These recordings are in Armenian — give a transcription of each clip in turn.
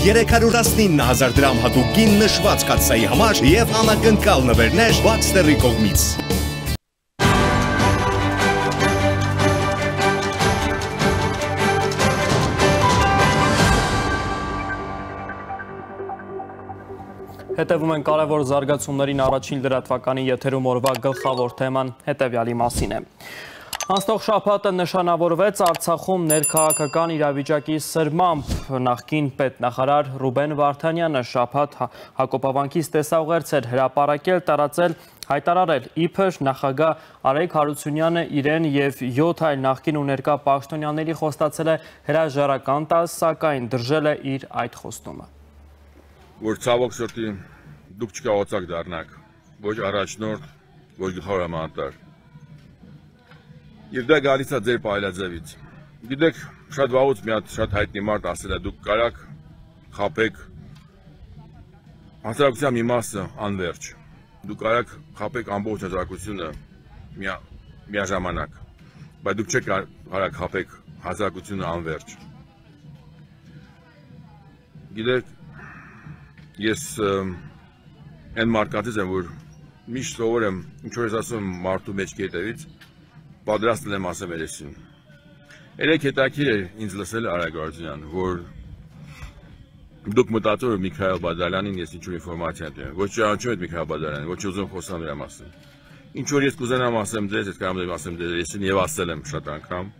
319,000 դրամ հատուկ գին նշված կաթսայի համար և անակնկալ նվերներ Baxter-ի կողմից։ Հետևում են կարևոր զարգացումներին առաջին լրատվականի եթերում օրվա գլխավոր թեման հետևյալի մասին է։ Անցնող շաբաթը նշանավորվեց Արցախում ներքաղաքական իրավիճակի սրմամբ։ Նախկին պետնախարար Ռուբեն Վարդանյանը շաբաթ Հակոբավանքից տեսաուղերձ էր հրապարակել, տարածել, հայտարարել, իբր նախագահ Արայք Հարությունյանը իրեն և 7 այլ նախկին ու ներկա պաշտոնյաների խոստացել է հրաժարական տալ, սակայն դրժել է իր այդ խոստումը։ Որ ցավոք սրտի դուք չկարողացաք դառնաք ոչ առաջնորդ, ոչ գլխավոր հրամանատար։ Եվ դա գալիս է ձեր պայլաձևից։ Գիտեք, շատ վաղուց մի հատ շատ հայտնի մարդ ասել է դուք կարաք խաբեք հասարակության մի մասը անվերջ։ Դուք կարաք խաբեք ամբողջ հասարակությունը միաժամանակ, բայց դուք չեք կարաք խաբեք հասարակությունը անվերջ։ Գիտեք, ես այն մարդկանցից եմ, որ միշտ սովոր եմ, ինչ որ ես ասում եմ մարդու մեջքի հետևից, պատրաստ եմ ասեմ երեսին։ Երեք հետաքրքիր էր ինձ լսել Արայք Հարությունյան, որ դուք մտածում եք Միքայել Բադալյանին ես ինչ-որ ինֆորմացիա տեմ, ոչ ճանաչում եք Միքայել Բադալյանին, ոչ ուզում խոսամ նրա մասին։ Ինչ որ ես կուզենամ ասեմ ձեզ, ես կարող եմ ասեմ ձեզ երեսին եւ ասել եմ շատ անգամ,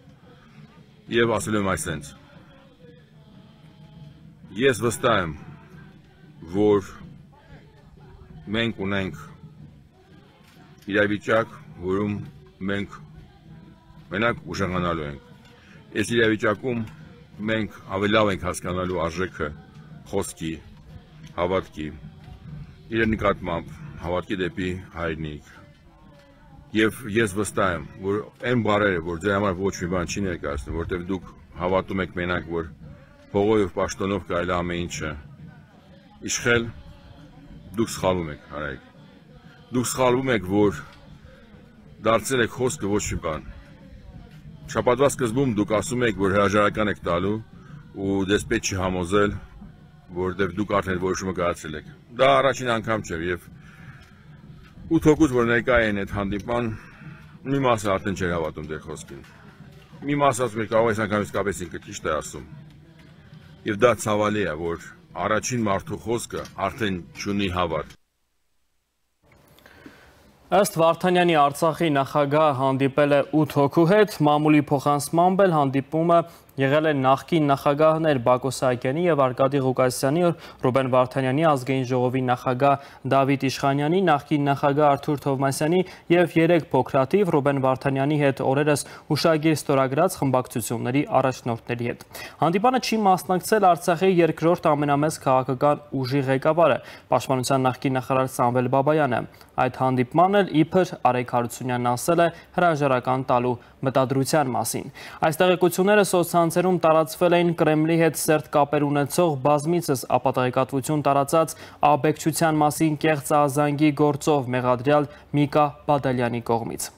եւ ասել եմ այսպես։ Ես վստահ եմ, որ մենք ունենք իրավիճակ, որում մենք մենակ ուժեղանալու ենք։ Այս իրավիճակում մենք ավելի լավ ենք հասկանալու արժեքը խոսքի, հավատքի, իր նկատմամբ հավատքի դեպի հայրենիք։ Եվ ես վստահ եմ, որ այն բառերը, որ ձեր համար ոչ մի բան չի ներկայացնում, որտեղ դուք հավատում եք մենակ, որ փողով եւ պաշտոնով կարելի ամեն ինչը իշխել, դուք սխալվում եք, Արայք։ Դուք սխալվում եք, որ դարձել եք խոսքը ոչ մի բան։ Շաբաթվա սկզբում դուք ասում եք, որ հրաժարական եք տալու ու դեսպետ չի համոզել, որտեղ դուք արդեն որոշումը կայացրել եք։ Դա առաջին անգամ չէ եւ 8 հոգուց, որ ներկա են այդ հանդիպման, մի մասը արդեն չէր հավատում ձեր խոսքին։ Մի մասը ասում էր կարող այս անգամ իսկապես ինքը ճիշտ է ասում։ Եվ դա ցավալի է, որ առաջին մարդու խոսքը արդեն չունի հավատ։ Ըստ Վարդանյանի Արցախի նախագահ հանդիպել է 8 հոգու հետ, մամուլի փոխանցմամբ էլ հանդիպումը եղել է նախկին նախագահներ Բակո Սահակյանի և Արկադի Ղուկասյանի, Ռուբեն Վարդանյանի, ազգային ժողովի նախագահ Դավիթ Իշխանյանի, նախկին նախագահ Արթուր Թովմասյանի և 3 փոքրաթիվ Ռուբեն Վարդանյանի հետ օրերս հուշագիր ստորագրած խմբակցությունների առաջնորդների հետ։ Հանդիպանը չի մասնակցել Արցախի երկրորդ ամենամեծ քաղաքական ուժի ղեկավարը, Պաշտպանության նախկին նախարար Սամվել Բաբայանը։ Այդ հանդիպման էլ իբր Արայք Հարությունյանն ասել է հրաժարական տալու մտադրության մասին։ Այս տեղեկությունները սոցցանցերում տարածվել էին Կրեմլի հետ սերտ կապեր ունեցող բազմիցս ապատեղեկատվություն տարածած աբեկչության մասին կեղծ ազանգի գործով մեղադրյալ Միկա Բադալյանի կողմից։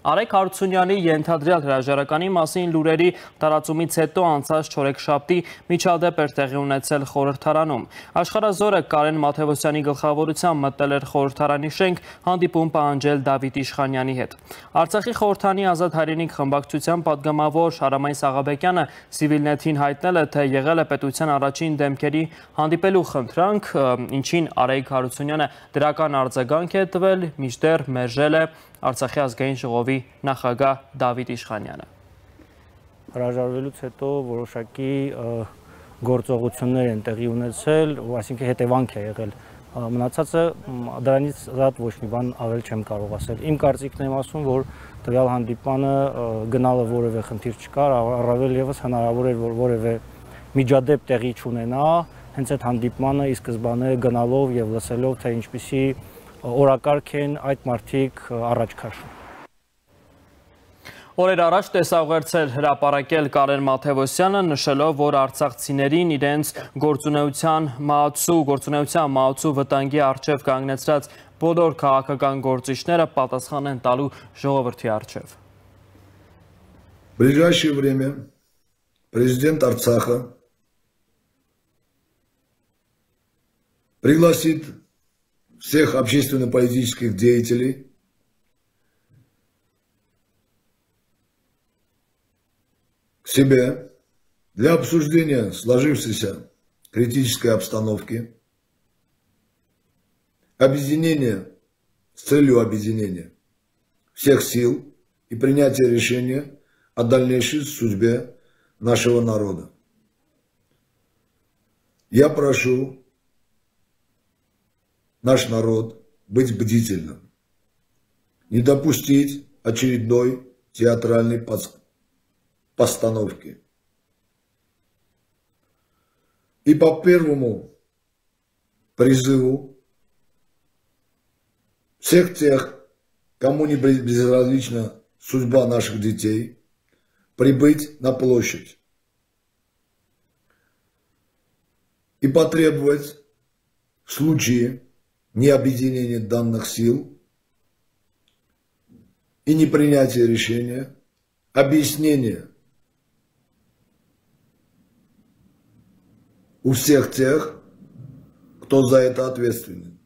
Արայք Հարությունյանի ենթադրյալ հրաժարականի մասին լուրերի տարածումից հետո անցած չորեքշաբթի միջադեպ էր տեղի ունեցել խորհրդարանում։ Աշխարհազորը Կարեն Մաթևոսյանի գլխավորությամբ մտել էր խորհրդարանի շենք հանդիպում պահանջել Դավիթ Իշխանյանի հետ։ Արցախի խորհրդանի Ազատ հայրենիք խմբակցության պատգամավոր Շարամայն Սաղաբեկյանը Civilnet-ին հայտնել է, թե եղել է պետության առաջին դեմքերի հանդիպելու խնդրանք, ինչին Արայք Հարությունյանը դրական արձագանք է տվել, մինչդեռ մերժել է Արցախի ազգային ժողովի նախագահ Դավիթ Իշխանյանը։ Հրաժարվելուց հետո որոշակի գործողություններ են տեղի ունեցել, այսինքն հետևանք է եղել։ Մնացածը դրանից զատ ոչ մի բան ավել չեմ կարող ասել։ Իմ կարծիքն եմ ասում, որ տվյալ հանդիպանը գնալը որևէ խնդիր չկար, առավել եւս հնարավոր էր, որ որևէ միջադեպ տեղի չունենա, հենց այդ հանդիպմանը ի սկզբանե գնալով եւ լսելով, թե ինչպիսի օրակարգ են այդ մարդիկ առաջ քաշում։ Օրեր առաջ տեսաուղերձել հրապարակել Կարեն Մաթևոսյանը, նշելով, որ արցախցիներին իրենց գործունեության մահացու վտանգի առջև կանգնեցրած բոլոր քաղաքական գործիչները պատասխան են տալու ժողովրդի առջև։ В ближайшее время президент Арцаха пригласит всех общественно-политических деятелей к себе для обсуждения сложившейся критической обстановки, объединения с целью объединения всех сил и принятия решения о дальнейшей судьбе нашего народа. Я прошу наш народ быть бдительным, не допустить очередной театральной постановки. И по первому призыву всех тех, кому не безразлична судьба наших детей, прибыть на площадь и потребовать в случае необъединения данных сил и непринятия решения объяснения у всех тех, кто за это ответственен.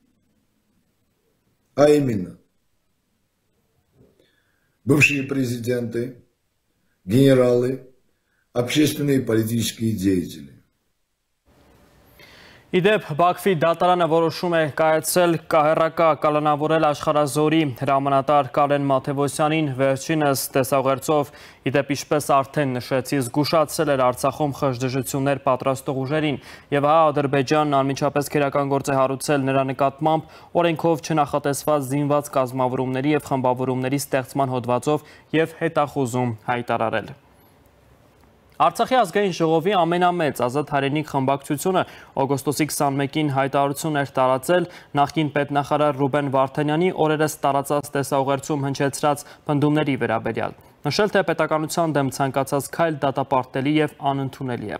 А именно, бывшие президенты, генералы, общественные и политические деятели. Իդեպ Բաքվի դատարանը որոշում է կայացել կահեռակա կալանավորել աշխարհազորի հրամանատար Կարեն Մաթևոսյանին վերջինս տեսաղերծով իդեպ ինչպես արդեն նշեցի զգուշացել էր Արցախում խժդժություններ պատրաստող ուժերին եւ հա Ադրբեջանն անմիջապես քերական գործ է հարուցել նրա նկատմամբ օրենքով չնախատեսված զինված կազմավորումների եւ խմբավորումների ստեղծման հոդվածով եւ հետախուզում հայտարարել Արցախի ազգային ժողովի ամենամեծ ազատ հայրենիք խմբակցությունը օգոստոսի 21-ին հայտարարություն էր տարածել նախկին պետնախարար Ռուբեն Վարդանյանի օրերս տարածած տեսաուղերձում հնչեցրած պնդումների վերաբերյալ։ Նշել թե պետականության դեմ ցանկացած քայլ դատապարտելի եւ անընդունելի է։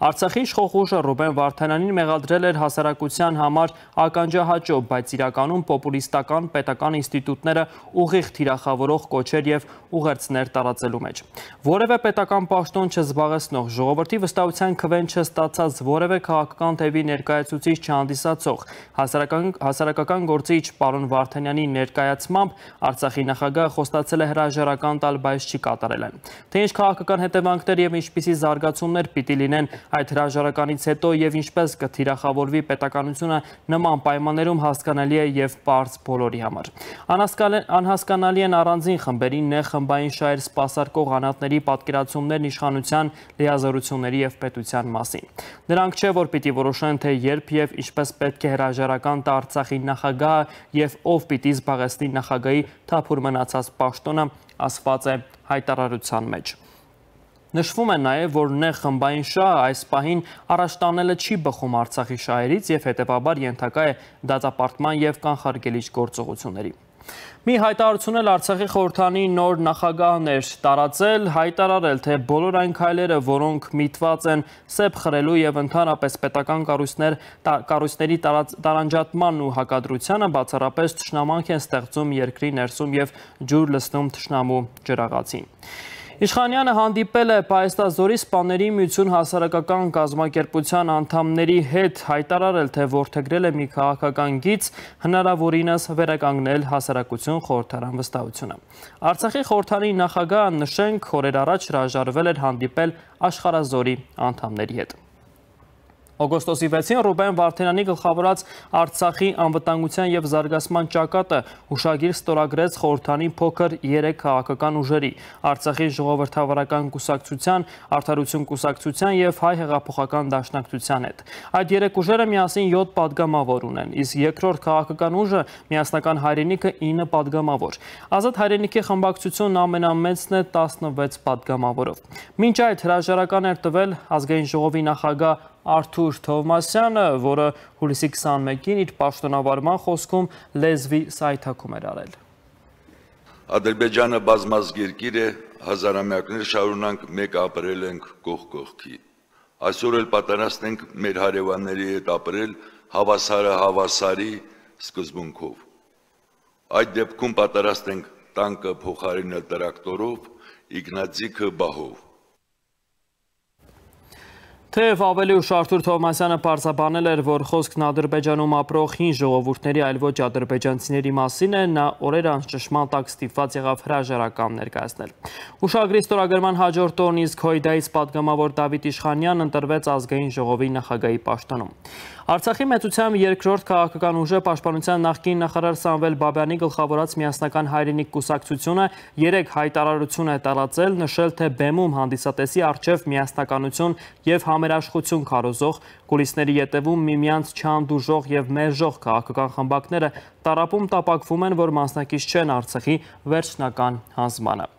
Արցախի իշխող ուժը Ռուբեն Վարդանյանին մեղադրել էր հասարակության համար ականջահաճո, բայց իրականում պոպուլիստական պետական ինստիտուտները ուղիղ թիրախավորող կոչեր եւ ուղերձներ տարածելու մեջ։ Որևէ պետական պաշտոն չզբաղեցնող, ժողովրդի վստահության քվեն չստացած որևէ քաղաքական թևի ներկայացուցիչ չհանդիսացող հասարակական գործիչ պարոն Վարդանյանի ներկայացմամբ Արցախի նախագահը խոստացել է հրաժարական տալ, բայց չի կատարել են։ Թե ինչ քաղաքական հետևանքներ եւ ինչպիսի զարգացումներ պիտի լինեն այդ հրաժարականից հետո եւ ինչպես կթիրախավորվի պետականությունը նման պայմաններում հասկանալի է եւ պարզ բոլորի համար։ Անհասկանալի են առանձին խմբերի նեղ խմբային շահեր սպասարկող անհատների պատկերացումներն իշխանության լիազորությունների եւ պետության մասին։ Նրանք չէ որ պիտի որոշեն թե երբ եւ ինչպես պետք է հրաժարական տա Արցախի նախագահը եւ ով պիտի զբաղեցնի նախագահի թափուր մնացած պաշտոնը ասված է հայտարարության մեջ։ Նշվում է նաև, որ նեղ խմբային շահը այս պահին առաջ տանելը չի բխում Արցախի շահերից եւ հետեւաբար ենթակա է դատապարտման եւ կանխարգելիչ գործողությունների։ Մի հայտարարություն էլ Արցախի խորհրդանի նոր նախագահն էր տարածել, հայտարարել, թե բոլոր այն քայլերը, որոնք միտված են սեփ խրելու եւ ընդհանրապես պետական կառույցների տարանջատման ու հակադրությանը, բացառապես թշնամանք են ստեղծում երկրի ներսում եւ ջուր լցնում թշնամու ջրաղացին։ Իշխանյանը հանդիպել է Պայեստազորի սպաների միություն հասարակական կազմակերպության անդամների հետ հայտարարել, թե որդեգրել է մի քաղաքական գիծ հնարավորինս վերականգնել հասարակություն խորհրդարան վստահությունը։ Արցախի խորհրդանի նախագահը նշենք օրեր առաջ հրաժարվել էր հանդիպել Աշխարհազորի անդամների հետ։ Օգոստոսի 6-ին Ռուբեն Վարդանյանի գլխավորած Արցախի անվտանգության եւ զարգացման ճակատը հուշագիր ստորագրեց խորհրդանի փոքր 3 քաղաքական ուժերի՝ Արցախի ժողովրդավարական կուսակցության, Արդարություն կուսակցության եւ Հայ հեղափոխական դաշնակցության հետ։ Այդ 3 ուժերը միասին 7 падգամավոր ունեն, իսկ երկրորդ քաղաքական ուժը Միասնական հայրենիքը 9 падգամավոր։ Ազատ հայրենիքի խմբակցությունն ամենամեծն է 16 падգամավորով։ Մինչ այդ հրաժարական էր տվել ազգային ժողովի նախագահ Արթուր Թովմասյանը, որը հուլիսի 21-ին իր պաշտոնավարման խոսքում լեզվի սայթաքում էր արել։ Ադրբեջանը բազմազգ երկիր է, հազարամյակներ շարունակ մեկ ապրել ենք կողք կողքի։ Այսօր էլ պատրաստ ենք մեր հարևանների հետ ապրել հավասարը հավասարի սկզբունքով։ Այդ դեպքում պատրաստ ենք տանկը փոխարինել տրակտորով, իգնաձիգը բահով։ Թեև ավելի ուշ Արթուր Թովմասյանը պարզաբանել էր, որ խոսքն Ադրբեջանում ապրող հին ժողովուրդների, այլ ոչ ադրբեջանցիների մասին է, նա օրեր անց ճշմարտ տակ ստիպված եղավ հրաժարական ներկայացնել։ Ուշագրի ստորագրման հաջորդ օրն իսկ Հույդայից պատգամավոր Դավիթ Իշխանյանն ընտրվեց ազգային ժողովի նախագահի պաշտոնում։ Արցախի մեծությամբ երկրորդ քաղաքական ուժը պաշտպանության նախկին նախարար Սամվել Բաբյանի գլխավորած միասնական հայրենիք կուսակցությունը 3 հայտարարություն է տարածել, նշել, թե բեմում հանդիսատեսի առջև միասնականություն եւ համերաշխություն քարոզող, կուլիսների ետևում միմյանց չհանդուրժող եւ մերժող քաղաքական խմբակները տառապում տապակվում են, որ մասնակից չեն Արցախի վերջնական հանձնմանը։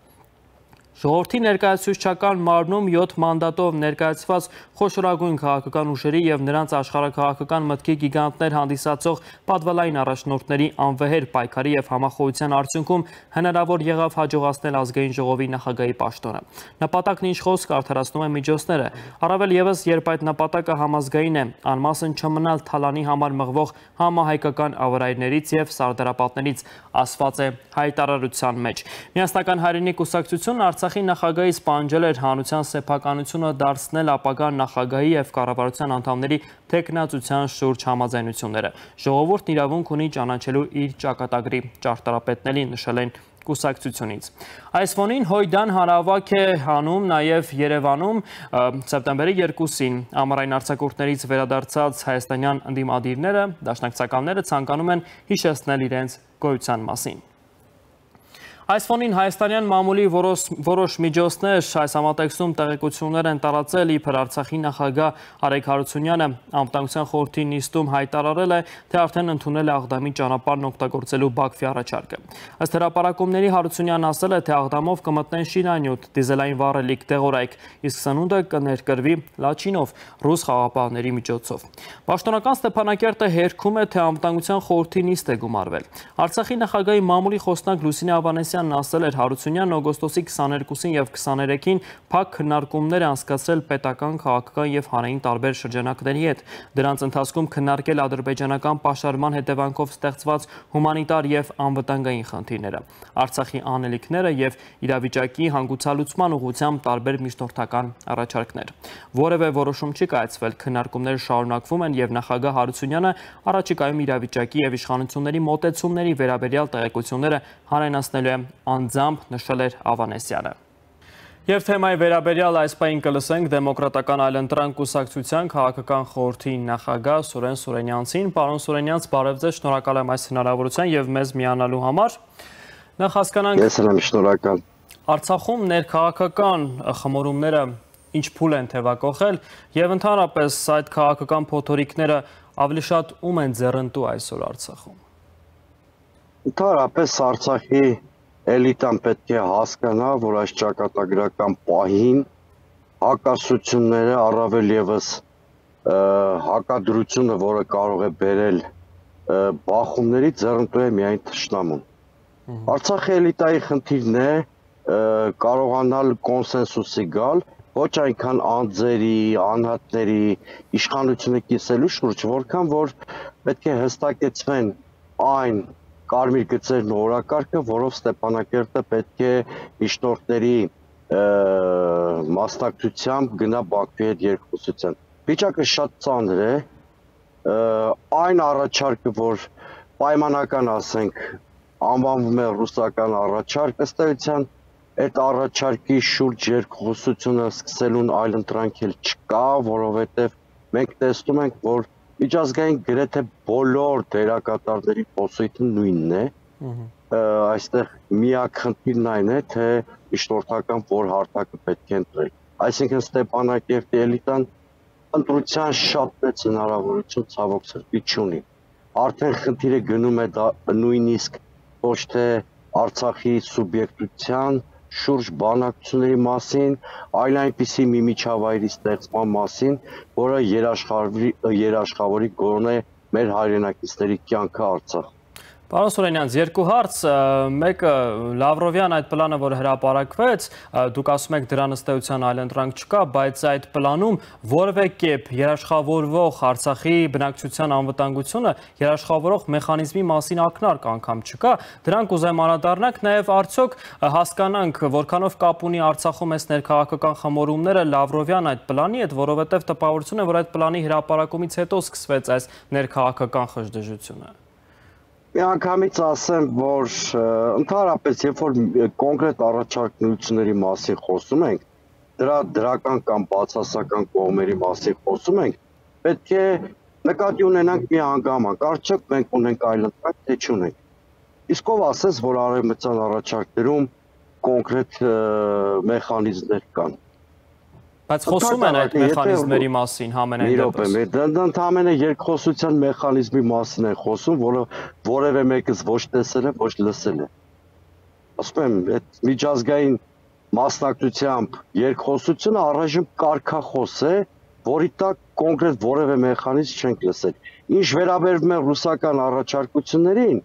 Ժողովրդի ներկայացուցչական մարմնում 7 մանդատով ներկայացված խոշորագույն քաղաքական ուժերի եւ նրանց աշխարհաքաղաքական մտքի գիգանտներ հանդիսացող պատվալային առաջնորդների անվեհեր պայքարի եւ համախոհության արդյունքում հնարավոր եղավ հաջողացնել ազգային ժողովի նախագահի պաշտոնը։ Նպատակն ինչ խոսք արդարացնում է միջոցները, առավել եւս երբ այդ նպատակը համազգային է, անմասն չմնալ թալանի համար մղվող համահայկական ավարայրներից եւ սարդարապատներից, ասված է հայտարարության մեջ։ Միասնական հայրենիք կուսակցությունն Արցախի նախագահից պահանջել էր հանրության սեփականությունը դարձնել ապագա նախագահի եւ կառավարության անդամների թեկնածության շուրջ համաձայնությունները։ Ժողովուրդն իրավունք ունի ճանաչելու իր ճակատագրի ճարտարապետների, նշել են կուսակցությունից։ Այս ֆոնին Հույդան հանրահավաք է հանում նաև Երևանում սեպտեմբերի 2-ին ամառային արձակուրդներից վերադարձած հայաստանյան ընդդիմադիրները, դաշնակցականները ցանկանում են հիշեցնել իրենց գոյության մասին։ Այս ֆոնին հայաստանյան մամուլի որոշ միջոցներ այս համատեքստում տեղեկություններ են տարածել, իբր Արցախի նախագահ Արեգ Հարությունյանը անվտանգության խորհրդի նիստում հայտարարել է, թե արդեն ընդունել է Աղդամի ճանապարհն օգտագործելու Բաքվի առաջարկը։ Ըստ հրապարակումների Հարությունյանն ասել է, թե Աղդամով կմտնեն շինանյութ, դիզելային վառելիք, դեղորայք, իսկ սնունդը կներկրվի Լաչինով, ռուս խաղաղապահների միջոցով։ Պաշտոնական Ստեփանակերտը հերքում է, թե անվտանգության խորհրդի նիստ է գումարվել։ Արցախի նախագահի մամուլի խոսնակ Լուսինե Ավանեսյանն ասել էր, Հարությունյանն օգոստոսի 22-ին եւ 23-ին փակ քննարկումներ անցկացրել պետական, քաղաքական եւ հանրային տարբեր շրջանակների հետ։ Դրանց ընթացքում քննարկել ադրբեջանական պաշարման հետևանքով ստեղծված հումանիտար եւ անվտանգային խնդիրները, Արցախի անելիքները եւ իրավիճակի հանգուցալուծման ուղղությամբ տարբեր միջնորդական առաջարկներ։ Որևէ որոշում չի կայացվել, քննարկումները շարունակվում են եւ նախագահ Հարությունյանը առաջիկայում իրավիճակի եւ իշխանությունների մոտեցումների վերաբերյալ տեղեկությունները հանրայնացնելու է անձամբ, նշել էր Ավանեսյանը։ Եվ թեմայի վերաբերյալ այս պահին կլսենք Դեմոկրատական այլընտրանք կուսակցության քաղաքական խորհրդի նախագահ Սուրեն Սուրենյանցին։ Պարոն Սուրենյանց, բարև ձեզ, շնորհակալ եմ այս հնարավորության եւ մեզ միանալու համար։ Նախ հասկանանք, ես եմ շնորհակալ։ Արցախում ներքաղաքական խմորումները ինչ փուլ են թևակողել եւ ընդհանրապես այդ քաղաքական փոթորիկները ավելի շատ ում են ձեռնտու այսօր Արցախում։ Ընդհանրապես Արցախի էլիտան պետք է հասկանա, որ այս ճակատագրական պահին հակասությունները, առավել եւս հակադրությունը, որը կարող է բերել բախումների, ձեռնտու է միայն թշնամուն։ Արցախի էլիտայի խնդիրն է կարողանալ կոնսենսուսի գալ, ոչ այնքան անձերի, անհատների, իշխանությունը կիսելու շուրջ, որքան որ պետք է հստակեցվեն այն կարմիր գծերն ու օրակարգը, որով Ստեփանակերտը պետք է միջնորդների մասնակցությամբ գնա Բաքվի հետ երկխոսության։ Վիճակը շատ ծանր է, այն առաջարկը, որ պայմանական, ասենք, անվանվում է ռուսական առաջարկ, ըստ էության այդ առաջարկի շուրջ երկխոսությունը սկսելուն այլընտրանք էլ չկա, որովհետև մենք տեսնում ենք, որ միջազգային գրեթե բոլոր դերակատարների խոսույթը նույնն է, այստեղ միակ խնդիրն այն է, թե միջնորդական որ հարթակը պետք է ընտրել։ Այսինքն Ստեփանակերտի էլիտան ընտրության շատ մեծ հնարավորություն ցավոք սրտի չունի։ Արդեն խնդիրը գնում է նույնիսկ ոչ թե Արցախի սուբյեկտության շուրջ բանակցությունների մասին, այլ այնպիսի մի միջավայրի ստեղծման մասին, որը երաշխավորի գոնե մեր հայրենակիցների կյանքը Արցախ։ Պարոն Սուրենյան, երկու հարց, մեկը Լավրովյան այդ պլանը, որ հրապարակվեց, դուք ասում եք դրան ըստ էության այլընտրանք չկա, բայց այդ պլանում որևէ կերպ երաշխավորվող Արցախի բնակչության անվտանգությունը երաշխավորող մեխանիզմի մասին ակնարկ անգամ չկա, դրանք ուզեմ անդրադառնանք, նաև արդյոք հասկանանք, որքանով կապ ունի Արցախում այս ներքաղաքական խմորումները Լավրովյան այդ պլանի հետ, որովհետև տպավորություն է, որ այդ պլանի հրապարակումից հետո սկսվեց այս ներքաղաքական խժդժությունը։ Միանգամից ասեմ, որ ընդհանրապես երբ որ կոնկրետ առաջարկությունների մասին խոսում ենք, դրա դրական կամ բացասական կողմերի մասին խոսում ենք, պետք է նկատի ունենանք մի հանգամանք, արդյոք մենք ունենք այլընտրանք, թե չունենք։ Իսկ ով ասես, որ արևմտյան առաջարկներում կոնկրետ մեխանիզմներ կան։ Բայց խոսում են այդ մեխանիզմների մասին համենայն դեպս։ Ընդամենը երկխոսության մեխանիզմի մասին են խոսում, որը որևէ մեկս ոչ տեսել է, ոչ լսել է։ Ասում եմ, այդ միջազգային մասնակցությամբ երկխոսությունը առայժմ կարգախոս է, որի տակ կոնկրետ որևէ մեխանիզմ չենք լսել։ Ինչ վերաբերում է ռուսական առաջարկություններին,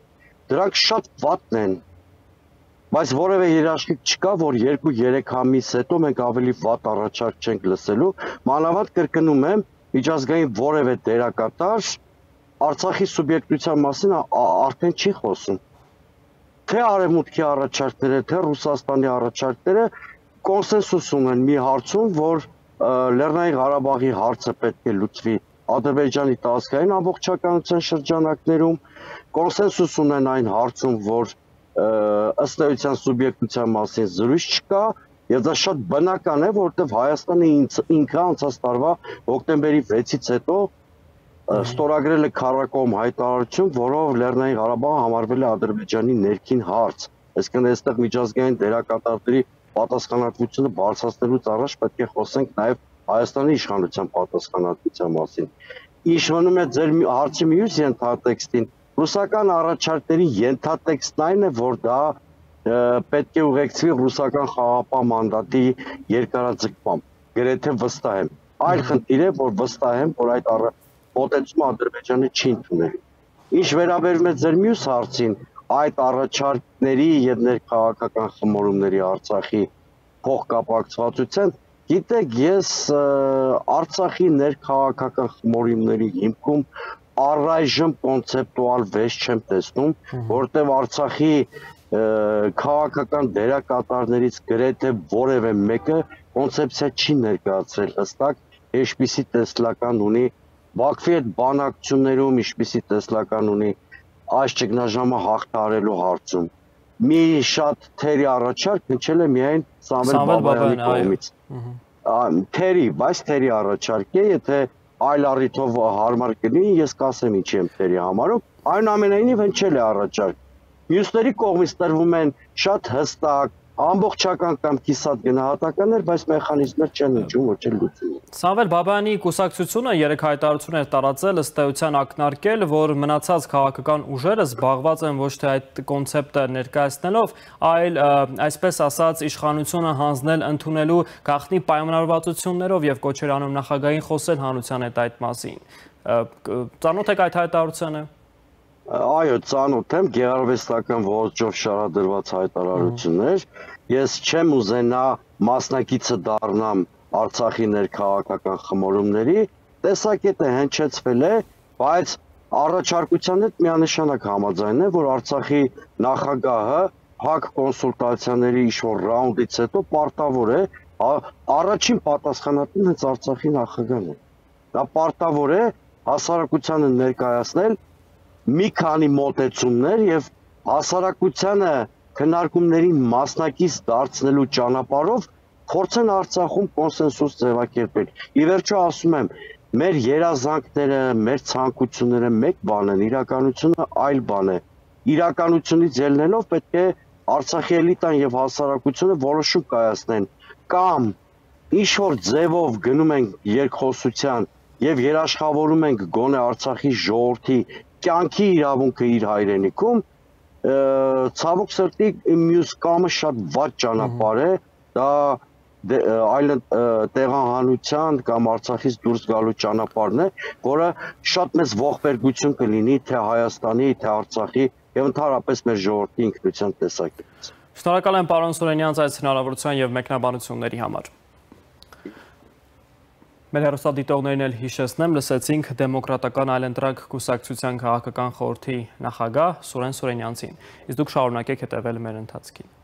դրանք շատ վատն են։ Բայց որևէ երաշխիք չկա, որ 2-3 ամիս հետո մենք ավելի վատ առաջարկ չենք լսելու, մանավանդ կրկնում եմ, միջազգային որևէ դերակատար Արցախի սուբյեկտության մասին արդեն չի խոսում։ Թե արևմուտքի առաջարկները, թե Ռուսաստանի առաջարկները կոնսենսուս ունեն մի հարցում, որ Լեռնային Ղարաբաղի հարցը պետք է լուծվի Ադրբեջանի տարածքային ամբողջականության շրջանակներում, կոնսենսուս ունեն այն հարցում, որ ըստ էության սուբյեկտության մասին զրույց չկա, եւ դա շատ բնական է, որովհետեւ Հայաստանը ինքը անցած տարվա հոկտեմբերի 6-ից հետո ստորագրել է քառակողմ հայտարարություն, որով Լեռնային Ղարաբաղը համարվել է Ադրբեջանի ներքին հարց։ Այսինքն այստեղ միջազգային դերակատարների պատասխանատվությունը բարձրացնելուց առաջ պետք է խոսենք նաեւ Հայաստանի իշխանության պատասխանատվության մասին։ Ինչ մնում է ձեր հարցի մյուս ենթատեքստին, ռուսական առաջարկների ենթատեքստն այն է, որ դա պետք է ուղեկցվի ռուսական խաղաղապահ մանդատի երկարաձգմամբ, գրեթե վստահ եմ։ Այլ խնդիր է, որ վստահ եմ, որ այդ մոտեցումը Ադրբեջանը չի ընդունել։ Ինչ վերաբերում է ձեր մյուս հարցին, այդ առաջարկների եւ ներքաղաքական խմորումների Արցախի փոխկապակցվածության, գիտեք, ես Արցախի ներքաղաքական խմորումների հիմքում առայժմ կոնցեպտուալ վեճ չեմ տեսնում, որտեղ Արցախի քաղաքական դերակատարներից գրեթե որևէ մեկը կոնցեպցիա չի ներկայացրել հստակ, ինչպիսի տեսլական ունի Բաքվի հետ բանակցություններում, ինչպիսի տեսլական ունի այս ճգնաժամը հաղթահարելու հարցում։ Մի շատ թերի առաջարկ հնչել է միայն Սամվել Բաբայանի կողմից։ Բայց թերի առաջարկ է, եթե այլ առիթով հարմար կլինի, ես կասեմ ինչի եմ թերի համարում, այնուամենայնիվ հնչել է առաջարկ։ Մյուսների կողմից տրվում են շատ հստակ, ամբողջական կամ կիսատ գնահատականներ, բայց մեխանիզմներ չեն հնչում, ոչ էլ լուծում։ Սամվել Բաբայանի կուսակցությունը երեք հայտարարություն էր տարածել ըստ էության ակնարկել, որ մնացած քաղաքական ուժերը զբաղված են ոչ թե այդ կոնցեպտը ներկայացնելով, այլ այսպես ասած իշխանությունը հանձնել ընդունելու գաղտնի պայմանավորվածություններով եւ կոչեր անում նախագահային խոսել հանրության հետ այդ մասին։ Ծանոթ եք այդ հայտարարությանը։ Այո, ծանոթ եմ, գեղարվեստական ոճով շարադրված հայտարարություններ։ Ես չեմ ուզենա մասնակիցը դառնամ Արցախի ներքաղաքական խմորումների, տեսակետը հնչեցվել է, բայց առաջարկության հետ միանշանակ համաձայն է, որ Արցախի նախագահը ՀԱԿ կոնսուլտացիաների ինչ-որ ռաունդից հետո պարտավոր է, առաջին պատասխանատուն հենց Արցախի նախագահն է։ Դա պարտավոր է հասարակությանը ներկայացնել մի քանի մոտեցումներ եւ հասարակությանը քննարկումներին մասնակից դարձնելու ճանապարհով փորձեն Արցախում կոնսենսուս ձևակերպել։ Ի վերջո ասում եմ, մեր երազանքները, մեր ցանկությունները մեկ բան են, իրականությունը այլ բան է։ Իրականությունից ելնելով պետք է Արցախի էլիտան եւ հասարակությունը որոշում կայացնեն կամ ինչ որ ձևով գնում են երկխոսության եւ երաշխավորում ենք գոնե Արցախի ժողովրդի կյանքի իրավունքը իր հայրենիքում, ցավոք սրտի մյուս կամը շատ վատ ճանապարհ է, դա այլ տեղահանության կամ Արցախից դուրս գալու ճանապարհն է, որը շատ մեծ ողբերգություն կլինի թե Հայաստանի, թե Արցախի եւ ընդհանրապես մեր ժողովրդի ինքնության տեսակետից։ Շնորհակալ եմ պարոն Սուրենյանց այս հնարավորության եւ մեկնաբանությունների համար։ Մեր հեռուստադիտողներին էլ հիշեցնեմ, լսեցինք Դեմոկրատական այլընտրակ կուսակցության քաղաքական խորհրդի նախագահ Սուրեն Սուրենյանցին։ Իսկ դուք շարունակեք հետևել մեր ընթացքին։